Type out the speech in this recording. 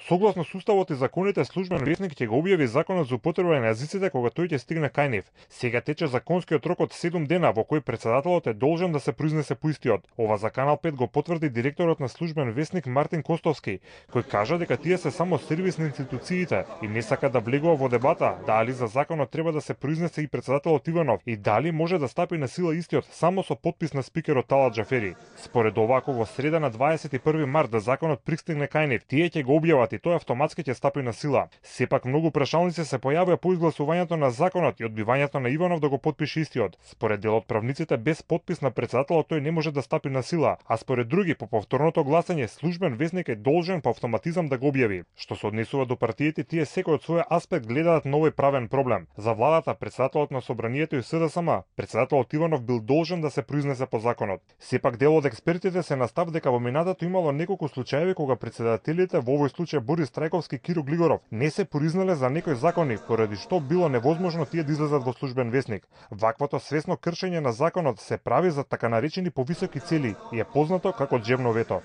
Согласно со уставот и законите, службен весник ќе го објави законот за употреба на езиците кога тој ќе стигне кај нив. Сега тече законскиот рок од 7 дена во кој претседателот е должен да се произнесе по истиот. Ова за Канал 5 го потврди директорот на службен весник Мартин Костовски, кој кажа дека тие се само сервис на институциите и не сака да влегува во дебата дали за законот треба да се произнесе и претседателот Иванов и дали може да стапи на сила истиот само со подпис на спикерот Талат Џафери. Според ова, ако во среда на 21 март да законот пристигне кај нив, тие ќе го објават и тој автоматски ќе стапи на сила. Сепак многу прашалници се појавија по изгласувањето на законот и одбивањето на Иванов да го потпише истиот. Според дел од правниците, без подпис на претседателот тој не може да стапи на сила, а според други по повторното гласање службен весник е должен по автоматизам да го објави. Што се однесува до партиите, тие секој од свој аспект гледаат на овој правен проблем. За владата, претседателот на собранието и СДСМ, претседателот Иванов бил должен да се произнесе по законот. Сепак дел од експертите се на став дека во минатото имало неколку случаеви кога претседателите, во овој случај Борис Трајковски и Киро Глигоров, не се произнале за некои закони, поради што било невозможно тие да излезат во службен весник. Ваквото свесно кршење на законот се прави за така наречени повисоки цели и е познато како џебно вето.